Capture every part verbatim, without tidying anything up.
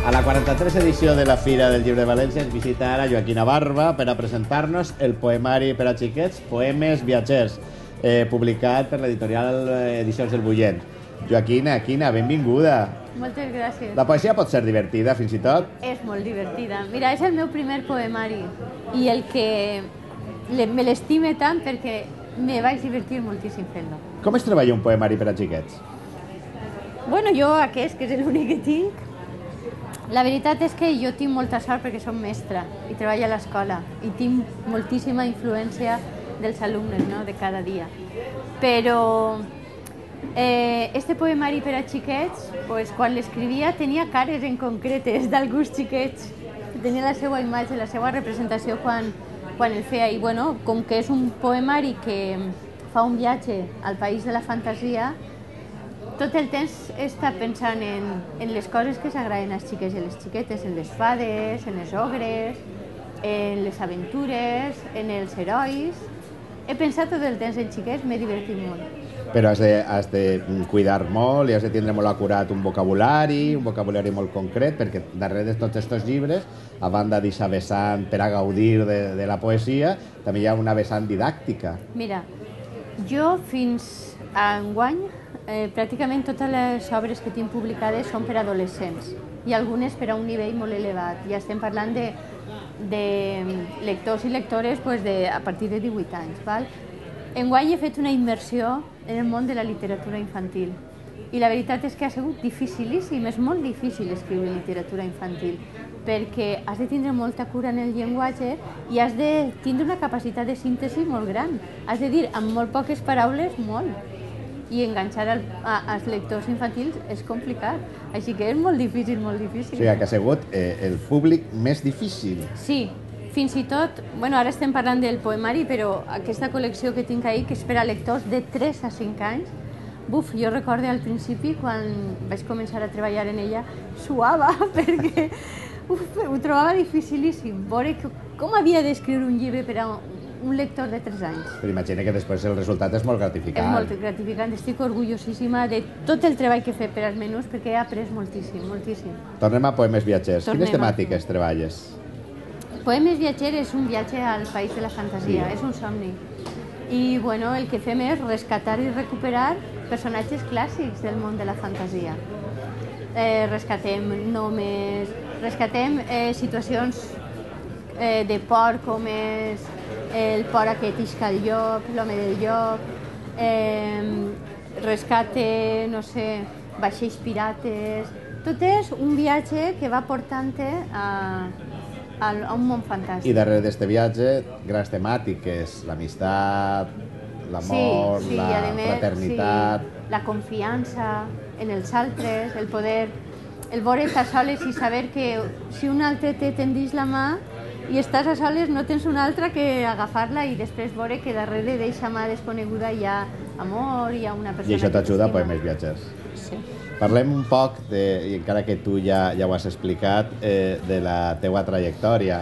A la quaranta-tres edició de la Fira del Llibre de València ens visita ara Joaquina Barba per a presentar-nos el poemari per a xiquets Poemes Viatgers, eh, publicat per l'editorial Edicions del Bullent. Joaquina, Quina, benvinguda. Moltes gràcies. La poesia pot ser divertida, fins i tot? És molt divertida. Mira, és el meu primer poemari i el que le, me l'estime tant perquè me vaig divertir moltíssim fent-lo. Com es treballa un poemari per a xiquets? Bueno, jo aquest, que és l'únic que tinc, la veritat és que jo tinc molta sort perquè som mestra i treballo a l'escola i tinc moltíssima influència dels alumnes, no?, de cada dia. Però eh, este poemari per a xiquets, pues, quan l'escrivia tenia cares en concretes d'alguns xiquets, tenia la seva imatge, la seva representació quan, quan el feia. I bueno, com que és un poemari que fa un viatge al país de la fantasia, tot el temps està pensant en, en les coses que s'agraden als xiquets i a les xiquetes, en les fades, en les ogres, en les aventures, en els herois. He pensat tot el temps en xiquets, m'he divertit molt. Però has de, has de cuidar molt i has de tindre molt acurat un vocabulari, un vocabulari molt concret, perquè darrere de tots aquests llibres, a banda d'aquesta vessant per a gaudir de, de la poesia, també hi ha una vessant didàctica. Mira, jo fins a enguany Eh, pràcticament totes les obres que tinc publicades són per a adolescents i algunes per a un nivell molt elevat. Ja estem parlant de, de lectors i lectores pues, de, a partir de divuit anys. Val? Enguany he fet una immersió en el món de la literatura infantil i la veritat és que ha sigut dificilíssim, és molt difícil escriure literatura infantil perquè has de tindre molta cura en el llenguatge i has de tindre una capacitat de síntesi molt gran. Has de dir amb molt poques paraules molt. I enganxar al, a, als lectors infantils és complicat. Així que és molt difícil, molt difícil. O sigui, que ha sigut eh, el públic més difícil. Sí, fins i tot, bueno, ara estem parlant del poemari, però aquesta col·lecció que tinc ahí, que és per a lectors de tres a cinc anys, buf, jo recordo al principi, quan vaig començar a treballar en ella, suava, perquè uf, ho trobava dificilíssim. Veure com havia d'escriure un llibre per a un lector de tres anys. Però imagina que després el resultat és molt gratificant. És molt gratificant. Estic orgullosíssima de tot el treball que he fet per als menús perquè he après moltíssim, moltíssim. Tornem a Poemes Viatgers. Tornem Quines temàtiques treballes? Poemes Viatgers és un viatge al país de la fantasia, sí. És un somni. I bueno, el que fem és rescatar i recuperar personatges clàssics del món de la fantasia. Eh, rescatem nomes, rescatem eh, situacions eh, de por com és el por aquest isca al llop, l'home del llop, eh, rescate, no sé, vaixells pirates. Tot és un viatge que va portant-te a, a, a un món fantàstic. I darrere d'aquest viatge, grans temàtiques, l'amistat, l'amor, sí, sí, la més, fraternitat... Sí, la confiança en els altres, el poder, el veure estar soles i saber que si un altre te tendeix la mà, i estàs a soles, no tens una altra que agafar-la i després veure que darrere d'eixa mà desconeguda hi ha amor, hi ha una persona... I això t'ajuda a Poemes Viatgers. Sí. Parlem un poc, de, i encara que tu ja, ja ho has explicat, eh, de la teua trajectòria.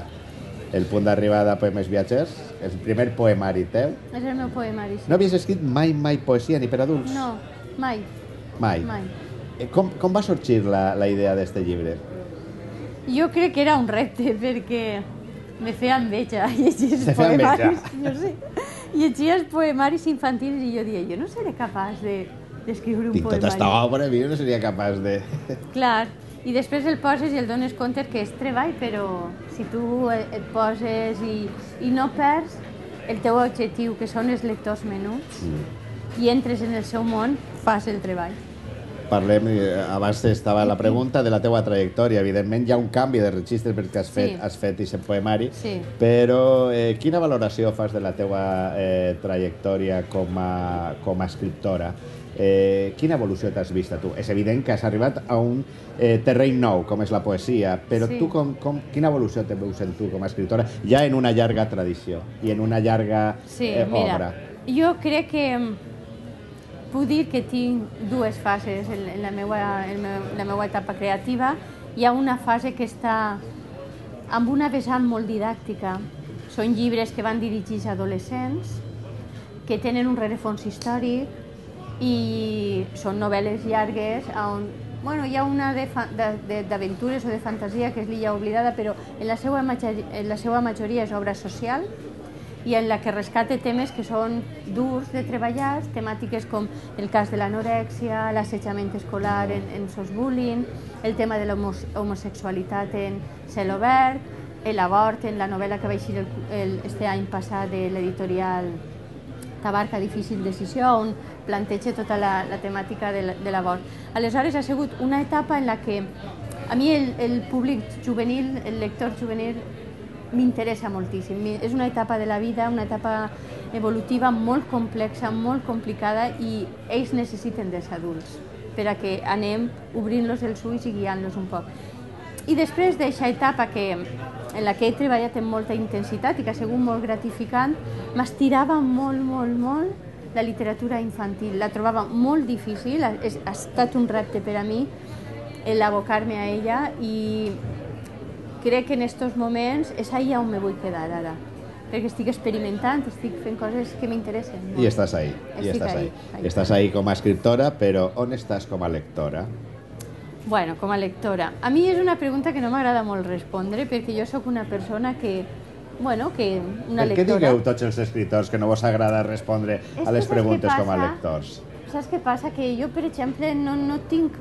El punt d'arribada a Poemes Viatgers, el primer poemari teu. És el meu poemari, sí. No havies escrit mai, mai poesia, ni per adults? No, mai. Mai? Mai. Com, com va sorgir la, la idea d'aquest llibre? Jo crec que era un repte, perquè me feia enveja llegir els Te feia poemaris. Jo sé. Llegia els poemaris infantils i jo deia, jo no seré capaç d'escriure de, un Tinc poemari. tota aquesta obra, jo no seria capaç de... Clar, i després el poses i el dones compte que és treball, però si tu et poses i, i no perds el teu objectiu, que són els lectors menuts, mm. i entres en el seu món, fas el treball. Parlem, abans estava la pregunta de la teua trajectòria. Evidentment hi ha un canvi de registre perquè has fet, sí. has fet aquest poemari, sí. Però eh, quina valoració fas de la teua eh, trajectòria com a, com a escriptora? Eh, quina evolució t'has vist a tu? És evident que has arribat a un eh, terreny nou, com és la poesia, però sí. tu com, com, quina evolució te veus en tu com a escriptora, ja en una llarga tradició i en una llarga sí, eh, mira, obra? Jo crec que puc dir que tinc dues fases en, en, la meua, en la meua etapa creativa. Hi ha una fase que està amb una vessant molt didàctica. Són llibres que van dirigits a adolescents, que tenen un rerefons històric i són novel·les llargues on bueno, hi ha una d'aventures o de fantasia que és l'Illa Oblidada, però en la seva, en la seva majoria és obra social i en la que rescate temes que són durs de treballar, temàtiques com el cas de l'anorèxia, l'assetjament escolar en, en sos bullying, el tema de l'homosexualitat en cel obert, l'abort en la novel·la que va eixir el, el, este any passat de l'editorial Tabarca, Difícil Decisió, on planteja tota la, la temàtica de l'abort. Aleshores ha sigut una etapa en la que a mi el, el públic juvenil, el lector juvenil, m'interessa moltíssim. És una etapa de la vida, una etapa evolutiva molt complexa, molt complicada, i ells necessiten dels adults per a que anem obrint-los els ulls i guiant-los un poc. I després d'aquesta etapa que, en la que he treballat amb molta intensitat i que ha sigut molt gratificant, m'estirava molt, molt, molt la literatura infantil. La trobava molt difícil, ha, ha estat un repte per a mi l'abocar-me a ella, i crec que en aquests moments és allà on me vull quedar ara, perquè estic experimentant, estic fent coses que m'interessen. I estàs ahí, i estàs ahí. Estàs ahí com a escriptora, però on estàs com a lectora? Bueno, com a lectora. A mi és una pregunta que no m'agrada molt respondre, perquè jo sóc una persona que, bueno, que una lectora... Per què digueu tots els escriptors que no vos agrada respondre a les preguntes com a lectors? Saps què passa? Que jo, per exemple, no, no tinc...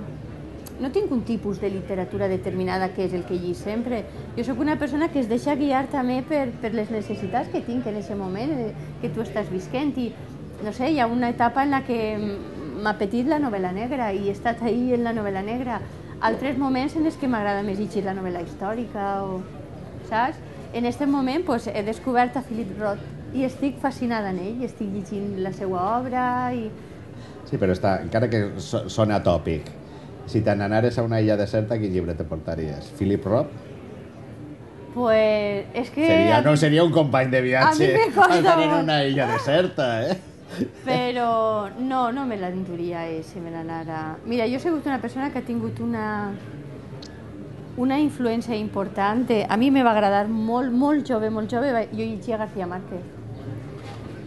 No tinc un tipus de literatura determinada que és el que llig sempre. Jo sóc una persona que es deixa guiar també per, per les necessitats que tinc en aquest moment, que tu estàs visquent. I, no sé, hi ha una etapa en la que m'ha petit la novel·la negra i he estat ahí en la novel·la negra. Altres moments en els que m'agrada més llegir la novel·la històrica, o, saps? En aquest moment pues, he descobert a Philip Roth i estic fascinada en ell, estic llegint la seva obra i... Sí, però està, encara que sona tòpic, si te n'anares a una illa deserta, quin llibre te portaries? Philip Roth? Pues és que... Seria, no seria un company de viatge al tenir una illa deserta, eh? Però no, no me l'enduria eh, si me n'anara... Mira, jo he sigut una persona que ha tingut una una influència important. A mi me va agradar molt, molt jove, molt jove, jo llegia García Márquez.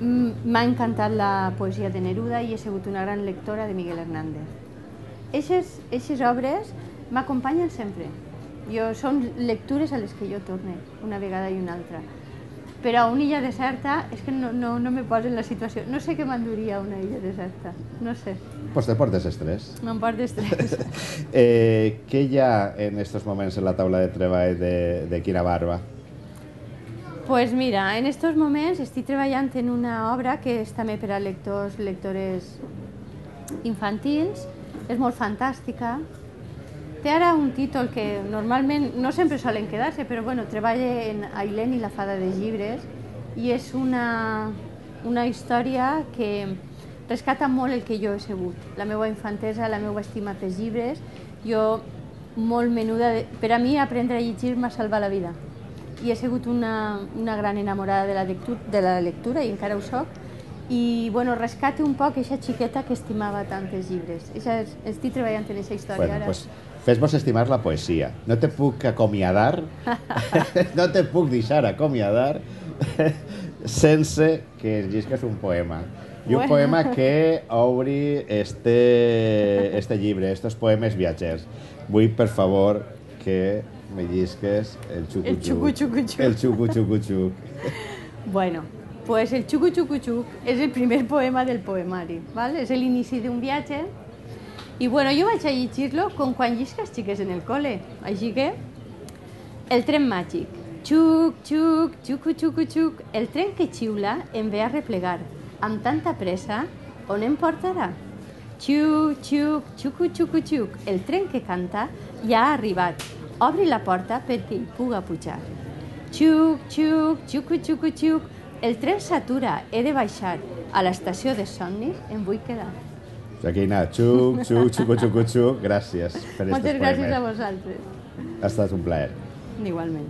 M'ha encantat la poesia de Neruda i he sigut una gran lectora de Miguel Hernández. Eixes obres m'acompanyen sempre. Jo, són lectures a les que jo torne, una vegada i una altra. Però a una illa deserta és que no, no, no me poso en la situació. No sé què m'enduria a una illa deserta, no sé. Pues te portes estrès. Me'n portes estrès. eh, què hi ha en estos moments en la taula de treball de, de Quina Barba? Pues mira, en estos moments estic treballant en una obra que és també per a lectors, lectores infantils. És molt fantàstica. Té ara un títol que normalment no sempre solen quedar-se, però bueno, treballa en Ailén i la fada dels llibres i és una, una història que rescata molt el que jo he sigut. La meva infantesa, la meva estima pels llibres. Jo, molt menuda, de... per a mi aprendre a llegir m'ha salvat la vida. I he sigut una, una gran enamorada de la, lectura, de la lectura i encara ho soc. I bueno, rescate un poc aquesta xiqueta que estimava tant els llibres. Eixa, estic treballant en aquesta història bueno, ara. Pues, fes-vos estimar la poesia. No te puc acomiadar, no te puc deixar acomiadar sense que llisques un poema. I un bueno. poema que obri este, este llibre, estos poemes viatgers. Vull, per favor, que me llisques el xucu-xucu-xuc. El xucu-xucu-xuc. Bueno, pues el xucu-xucu-xuc és el primer poema del poemari, ¿vale? És l'inici d'un viatge. I bueno, jo vaig a llegir-lo com quan llisques xiques en el col·le. Així que, el tren màgic. Xuc, xuc, xucu-xucu-xuc. El tren que xiula em ve a replegar. Amb tanta pressa, on em portarà? Xuc, xuc, xucu-xucu-xuc. El tren que canta ja ha arribat. Obri la porta perquè hi puga pujar. Xuc, xuc, xucu-xucu-xuc. El tren s'atura, he de baixar. A l'estació de somnis em vull quedar. Joaquina, xuc, xuc, xucu, xucu, xuc. Gràcies per Moltes gràcies a vosaltres. Ha estat un plaer. Igualment.